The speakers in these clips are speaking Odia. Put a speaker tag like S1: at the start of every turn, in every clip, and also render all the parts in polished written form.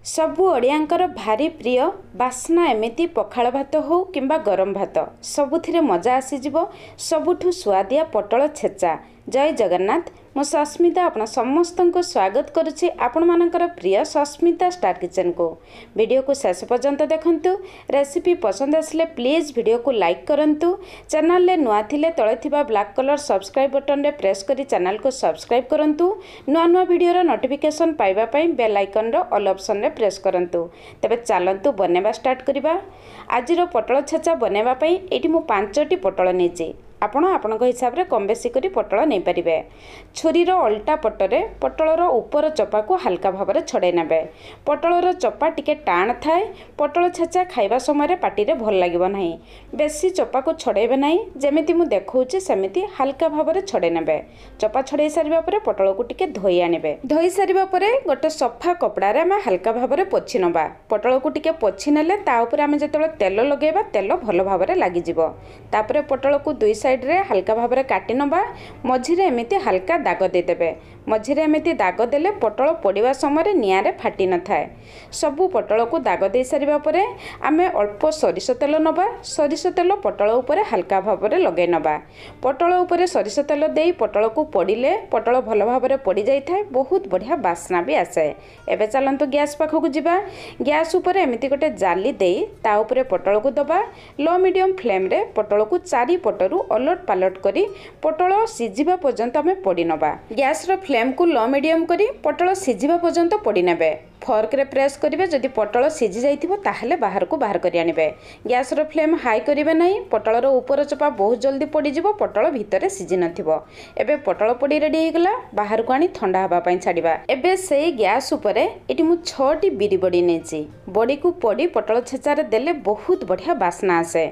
S1: ସବୁ ଓଡ଼ିଆଙ୍କର ଭାରି ପ୍ରିୟ ବାସ୍ନା। ଏମିତି ପଖାଳ ଭାତ ହେଉ କିମ୍ବା ଗରମ ଭାତ, ସବୁଥିରେ ମଜା ଆସିଯିବ। ସବୁଠୁ ସୁଆଦିଆ ପୋଟଳ ଛେଚା। ଜୟ ଜଗନ୍ନାଥ। ମୁଁ ସସ୍ମିତା, ଆପଣ ସମସ୍ତଙ୍କୁ ସ୍ୱାଗତ କରୁଛି ଆପଣମାନଙ୍କର ପ୍ରିୟ ସସ୍ମିତା ଷ୍ଟାର କିଚେନକୁ। ଭିଡ଼ିଓକୁ ଶେଷ ପର୍ଯ୍ୟନ୍ତ ଦେଖନ୍ତୁ। ରେସିପି ପସନ୍ଦ ଆସିଲେ ପ୍ଲିଜ୍ ଭିଡ଼ିଓକୁ ଲାଇକ୍ କରନ୍ତୁ। ଚ୍ୟାନେଲରେ ନୂଆ ଥିଲେ ତଳେ ଥିବା ବ୍ଲାକ୍ କଲର୍ ସବସ୍କ୍ରାଇବ୍ ବଟନରେ ପ୍ରେସ୍ କରି ଚ୍ୟାନେଲକୁ ସବସ୍କ୍ରାଇବ୍ କରନ୍ତୁ। ନୂଆ ନୂଆ ଭିଡ଼ିଓର ନୋଟିଫିକେସନ୍ ପାଇବା ପାଇଁ ବେଲ୍ ଆଇକନ୍ର ଅଲ୍ ଅପସନ୍ରେ ପ୍ରେସ୍ କରନ୍ତୁ। ତେବେ ଚାଲନ୍ତୁ ବନେଇବା ଷ୍ଟାର୍ଟ କରିବା। ଆଜିର ପୋଟଳ ଛେଚା ବନେଇବା ପାଇଁ ଏଇଠି ମୁଁ 5ଟି ପୋଟଳ ନେଇଛି। ଆପଣ ଆପଣଙ୍କ ହିସାବରେ କମ୍ ବେଶୀ କରି ପୋଟଳ ନେଇପାରିବେ। ଛୁରୀର ଅଲଟା ପଟରେ ପୋଟଳର ଉପର ଚୋପାକୁ ହାଲକା ଭାବରେ ଛଡ଼େଇ ନେବେ। ପୋଟଳର ଚୋପା ଟିକେ ଟାଣ ଥାଏ, ପୋଟଳ ଛେଚା ଖାଇବା ସମୟରେ ପାଟିରେ ଭଲ ଲାଗିବ ନାହିଁ। ବେଶୀ ଚୋପାକୁ ଛଡ଼େଇବେ ନାହିଁ, ଯେମିତି ମୁଁ ଦେଖାଉଛି ସେମିତି ହାଲକା ଭାବରେ ଛଡ଼େଇ ନେବେ। ଚୋପା ଛଡ଼େଇ ସାରିବା ପରେ ପୋଟଳକୁ ଟିକେ ଧୋଇ ଆଣିବେ। ଧୋଇ ସାରିବା ପରେ ଗୋଟେ ସଫା କପଡ଼ାରେ ଆମେ ହାଲକା ଭାବରେ ପୋଛି ନେବା। ପୋଟଳକୁ ଟିକେ ପୋଛି ନେଲେ ତା ଉପରେ ଆମେ ଯେତେବେଳେ ତେଲ ଲଗାଇବା, ତେଲ ଭଲ ଭାବରେ ଲାଗିଯିବ। ତାପରେ ପୋଟଳକୁ ଦୁଇ ସାଇଡ଼ରେ ହାଲକା ଭାବରେ କାଟି ନେବା। ମଝିରେ ଏମିତି ହାଲକା ଦାଗ ଦେଇଦେବେ। ମଝିରେ ଏମିତି ଦାଗ ଦେଲେ ପୋଟଳ ପୋଡ଼ିବା ସମୟରେ ନିଆଁରେ ଫାଟି ନଥାଏ। ସବୁ ପୋଟଳକୁ ଦାଗ ଦେଇ ସାରିବା ପରେ ଆମେ ଅଳ୍ପ ସୋରିଷ ତେଲ ନେବା। ସୋରିଷ ତେଲ ପୋଟଳ ଉପରେ ହାଲକା ଭାବରେ ଲଗାଇ ନେବା। ପୋଟଳ ଉପରେ ସୋରିଷ ତେଲ ଦେଇ ପୋଟଳକୁ ପୋଡ଼ିଲେ ପୋଟଳ ଭଲ ଭାବରେ ପୋଡ଼ି ଯାଇଥାଏ, ବହୁତ ବଢ଼ିଆ ବାସ୍ନା ବି ଆସେ। ଏବେ ଚାଲନ୍ତୁ ଗ୍ୟାସ୍ ପାଖକୁ ଯିବା। ଗ୍ୟାସ୍ ଉପରେ ଏମିତି ଗୋଟେ ଜାଲି ଦେଇ ତା ଉପରେ ପୋଟଳକୁ ଦେବା। ଲୋ ମିଡ଼ିୟମ୍ ଫ୍ଲେମ୍ରେ ପୋଟଳକୁ ଚାରିପଟରୁ ଓଲଟ ପାଲଟ କରି ପୋଟଳ ସିଝିବା ପର୍ଯ୍ୟନ୍ତ ଆମେ ପୋଡ଼ି ନେବା। ଗ୍ୟାସ୍ର ଫ୍ଲେମ୍କୁ ଲୋ ମିଡ଼ିୟମ୍ କରି ପୋଟଳ ସିଝିବା ପର୍ଯ୍ୟନ୍ତ ପୋଡ଼ି ନେବେ। ଫର୍କରେ ପ୍ରେସ୍ କରିବେ, ଯଦି ପୋଟଳ ସିଝି ଯାଇଥିବ ତାହେଲେ ବାହାରକୁ ବାହାର କରି ଆଣିବେ। ଗ୍ୟାସ୍ର ଫ୍ଲେମ୍ ହାଇ କରିବେ ନାହିଁ, ପୋଟଳର ଉପର ଚୋପା ବହୁତ ଜଲ୍ଦି ପୋଡ଼ିଯିବ, ପୋଟଳ ଭିତରେ ସିଝି ନଥିବ। ଏବେ ପୋଟଳ ପୋଡ଼ି ରେଡ଼ି ହେଇଗଲା, ବାହାରକୁ ଆଣି ଥଣ୍ଡା ହେବା ପାଇଁ ଛାଡ଼ିବା। ଏବେ ସେଇ ଗ୍ୟାସ୍ ଉପରେ ଏଠି ମୁଁ 6ଟି ବିରି ବଡ଼ି ନେଇଛି। ବଡ଼ିକୁ ପୋଡ଼ି ପୋଟଳ ଛେଚାରେ ଦେଲେ ବହୁତ ବଢ଼ିଆ ବାସ୍ନା ଆସେ।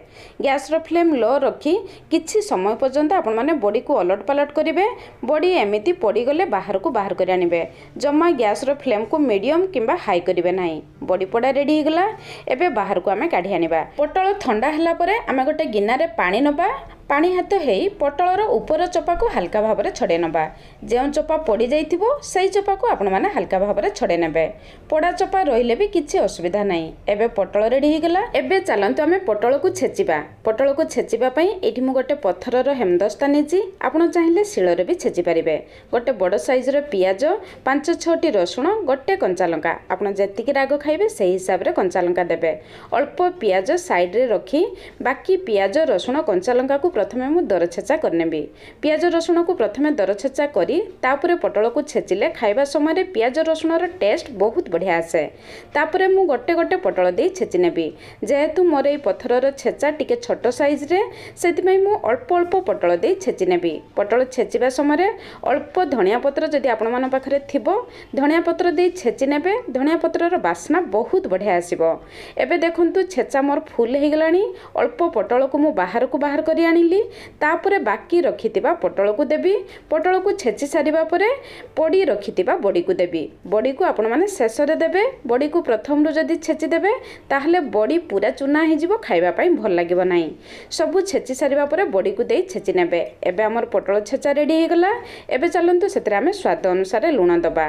S1: ଗ୍ୟାସ୍ର ଫ୍ଲେମ୍ ଲୋ ରଖି କିଛି ସମୟ ପର୍ଯ୍ୟନ୍ତ ଆପଣମାନେ ବଡ଼ିକୁ ଓଲଟ ପାଲଟ କରିବେ। ବଡ଼ି ଏମିତି ପୋଡ଼ିଗଲେ ବାହାରକୁ ବାହାର କରି ଆଣିବେ। ଜମା ଗ୍ୟାସ୍ର ଫ୍ଲେମ୍କୁ ମିଡ଼ିୟମ୍ କିମ୍ବା ହାଇ କରିବେ ନାହିଁ। ବଡ଼ି ପୋଡ଼ା ରେଡ଼ି ହେଇଗଲା, ଏବେ ବାହାରକୁ ଆମେ କାଢ଼ି ଆଣିବା। ପୋଟଳ ଥଣ୍ଡା ହେଲା ପରେ ଆମେ ଗୋଟେ ଗିନାରେ ପାଣି ନେବା। ପାଣି ହାତ ହେଇ ପୋଟଳର ଉପର ଚୋପାକୁ ହାଲକା ଭାବରେ ଛଡ଼େଇ ନେବା। ଯେଉଁ ଚୋପା ପୋଡ଼ି ଯାଇଥିବ, ସେଇ ଚୋପାକୁ ଆପଣମାନେ ହାଲକା ଭାବରେ ଛଡ଼େଇ ନେବେ। ପୋଡ଼ା ଚୋପା ରହିଲେ ବି କିଛି ଅସୁବିଧା ନାହିଁ। ଏବେ ପୋଟଳ ରେଡ଼ି ହେଇଗଲା। ଏବେ ଚାଲନ୍ତୁ ଆମେ ପୋଟଳକୁ ଛେଚିବା। ପୋଟଳକୁ ଛେଚିବା ପାଇଁ ଏଇଠି ମୁଁ ଗୋଟେ ପଥରର ହେମଦସ୍ତା ନେଇଛି। ଆପଣ ଚାହିଁଲେ ଶିଳରେ ବି ଛେଚି ପାରିବେ। ଗୋଟେ ବଡ଼ ସାଇଜ୍ର ପିଆଜ, 5 6ଟି ରସୁଣ, ଗୋଟେ କଞ୍ଚା ଲଙ୍କା। ଆପଣ ଯେତିକି ରାଗ ଖାଇବେ ସେଇ ହିସାବରେ କଞ୍ଚା ଲଙ୍କା ଦେବେ। ଅଳ୍ପ ପିଆଜ ସାଇଡ଼ରେ ରଖି ବାକି ପିଆଜ, ରସୁଣ, କଞ୍ଚା ଲଙ୍କାକୁ ପ୍ରଥମେ ମୁଁ ଦରଛେଚା କରିନେବି। ପିଆଜ ରସୁଣକୁ ପ୍ରଥମେ ଦରଛେଚା କରି ତାପରେ ପୋଟଳକୁ ଛେଚିଲେ ଖାଇବା ସମୟରେ ପିଆଜ ରସୁଣର ଟେଷ୍ଟ ବହୁତ ବଢ଼ିଆ ଆସେ। ତାପରେ ମୁଁ ଗୋଟେ ଗୋଟେ ପୋଟଳ ଦେଇ ଛେଚି ନେବି। ଯେହେତୁ ମୋର ଏଇ ପଥରର ଛେଚା ଟିକେ ଛୋଟ ସାଇଜ୍ରେ, ସେଥିପାଇଁ ମୁଁ ଅଳ୍ପ ଅଳ୍ପ ପୋଟଳ ଦେଇ ଛେଚି ନେବି। ପୋଟଳ ଛେଚିବା ସମୟରେ ଅଳ୍ପ ଧଣିଆ ପତ୍ର ଯଦି ଆପଣମାନଙ୍କ ପାଖରେ ଥିବ, ଧଣିଆ ପତ୍ର ଦେଇ ଛେଚି ନେବେ। ଧଣିଆ ପତ୍ରର ବାସ୍ନା ବହୁତ ବଢ଼ିଆ ଆସିବ। ଏବେ ଦେଖନ୍ତୁ, ଛେଚା ମୋର ଫୁଲ ହେଇଗଲାଣି। ଅଳ୍ପ ପୋଟଳକୁ ମୁଁ ବାହାରକୁ ବାହାର କରି ଆଣିଲି। ତାପରେ ବାକି ରଖିଥିବା ପୋଟଳକୁ ଦେବି। ପୋଟଳକୁ ଛେଚି ସାରିବା ପରେ ପୋଡ଼ି ରଖିଥିବା ବଡ଼ିକୁ ଦେବି। ବଡ଼ିକୁ ଆପଣମାନେ ଶେଷରେ ଦେବେ। ବଡ଼ିକୁ ପ୍ରଥମରୁ ଯଦି ଛେଚି ଦେବେ, ତାହେଲେ ବଡ଼ି ପୁରା ଚୁନା ହେଇଯିବ, ଖାଇବା ପାଇଁ ଭଲ ଲାଗିବ ନାହିଁ। ସବୁ ଛେଚି ସାରିବା ପରେ ବଡ଼ିକୁ ଦେଇ ଛେଚି ନେବେ। ଏବେ ଆମର ପୋଟଳ ଛେଚା ରେଡ଼ି ହେଇଗଲା। ଏବେ ଚାଲନ୍ତୁ ସେଥିରେ ଆମେ ସ୍ୱାଦ ଅନୁସାରେ ଲୁଣ ଦେବା।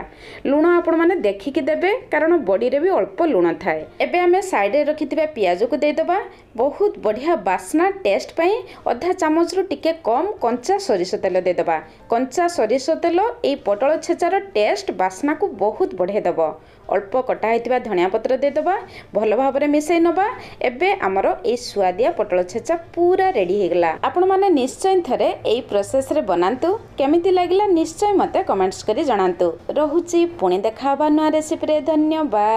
S1: ଲୁଣ ଆପଣମାନେ ଦେଖିକି ଦେବେ, କାରଣ ବଡ଼ିରେ ବି ଅଳ୍ପ ଲୁଣ ଥାଏ। ଏବେ ଆମେ ସାଇଡ଼ରେ ରଖିଥିବା ପିଆଜକୁ ଦେଇଦେବା। ବହୁତ ବଢ଼ିଆ ବାସ୍ନା ଟେଷ୍ଟ ପାଇଁ ଅଧା ଚାମଚରୁ ଟିକେ କମ୍ କଞ୍ଚା ସୋରିଷ ତେଲ ଦେଇଦେବା। କଞ୍ଚା ସୋରିଷ ତେଲ ଏଇ ପୋଟଳ ଛେଚାର ଟେଷ୍ଟ ବାସ୍ନାକୁ ବହୁତ ବଢ଼େଇ ଦେବ। ଅଳ୍ପ କଟା ହେଇଥିବା ଧଣିଆ ପତ୍ର ଦେଇଦେବା, ଭଲ ଭାବରେ ମିଶାଇ ନେବା। ଏବେ ଆମର ଏଇ ସୁଆଦିଆ ପୋଟଳ ଛେଚା ପୁରା ରେଡ଼ି ହେଇଗଲା। ଆପଣମାନେ ନିଶ୍ଚୟ ଥରେ ଏଇ ପ୍ରୋସେସରେ ବନାନ୍ତୁ। କେମିତି ଲାଗିଲା ନିଶ୍ଚୟ ମୋତେ କମେଣ୍ଟସ୍ କରି ଜଣାନ୍ତୁ। ରହୁଛି, ପୁଣି ଦେଖା ହେବା ନୂଆ ରେସିପିରେ। ଧନ୍ୟବାଦ।